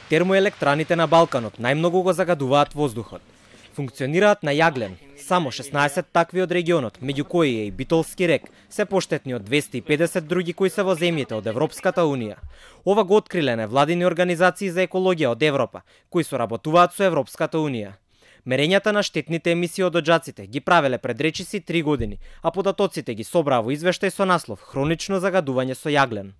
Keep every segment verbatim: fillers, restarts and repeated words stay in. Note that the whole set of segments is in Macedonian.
Термоелектраните на Балканот најмногу го загадуваат воздухот. Функционираат на јаглен. Само шеснаесет такви од регионот, меѓу кои е и Битолски рек, се поштетни од двесте и педесет други кои се во земјите од Европската Унија. Ова го откриле невладини организации за екологија од Европа, кои соработуваат со Европската Унија. Мерењата на штетните емисии од оџаците ги правеле пред речиси три години, а податоците ги собраа во извештај со наслов «Хронично загадување со јаглен».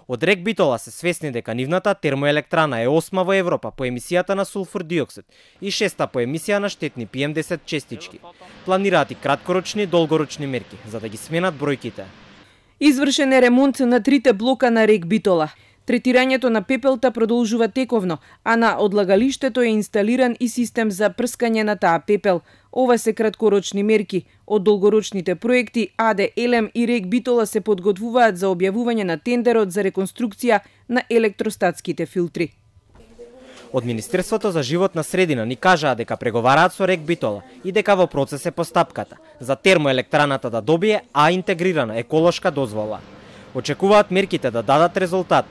Од рек Битола се свесни дека нивната термоелектрана е осма во Европа по емисијата на сулфур диоксид и шеста по емисија на штетни пи ем десет честички. Планираат и краткорочни и долгорочни мерки за да ги сменат бројките. Извршен е ремонт на трите блока на рек Битола. Третирањето на пепелта продолжува тековно, а на одлагалиштето е инсталиран и систем за прскање на таа пепел. Ова се краткорочни мерки. Од долгорочните проекти АД Елем и рек Битола се подготвуваат за објавување на тендерот за реконструкција на електростатските филтри. Од Министерството за животна средина ни кажаа дека преговараат со рек Битола и дека во процес е постапката за термоелектраната да добие А интегрирана еколошка дозвола. Очекуваат мерките да дадат резултат.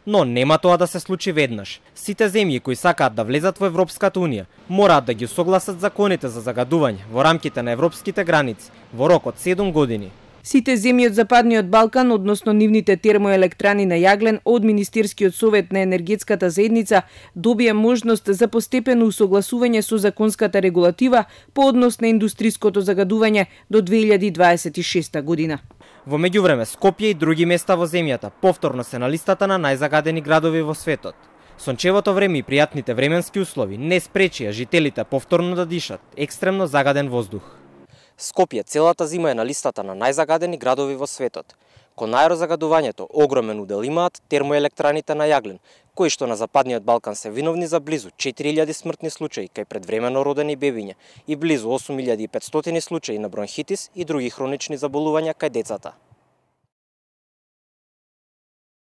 Но нема тоа да се случи веднаш. Сите земји кои сакаат да влезат во Европската Унија мораат да ги усогласат законите за загадување во рамките на европските граници во рок од седум години. Сите земји од Западниот Балкан, односно нивните термоелектрани на јаглен, од Министерскиот совет на енергетската заедница добија можност за постепено усогласување со законската регулатива по однос на индустриското загадување до две илјади дваесет и шеста година. Во меѓувреме, Скопје и други места во земјата повторно се на листата на најзагадени градови во светот. Сончевото време и пријатните временски услови не спречија жителите повторно да дишат екстремно загаден воздух. Скопје целата зима е на листата на најзагадени градови во светот. Кон аерозагадувањето огромен удел имаат термоелектраните на јаглен, кои што на Западниот Балкан се виновни за близу четири илјади смртни случаи кај предвремено родени бебиња и близу осум илјади и петстотини случаи на бронхитис и други хронични заболувања кај децата.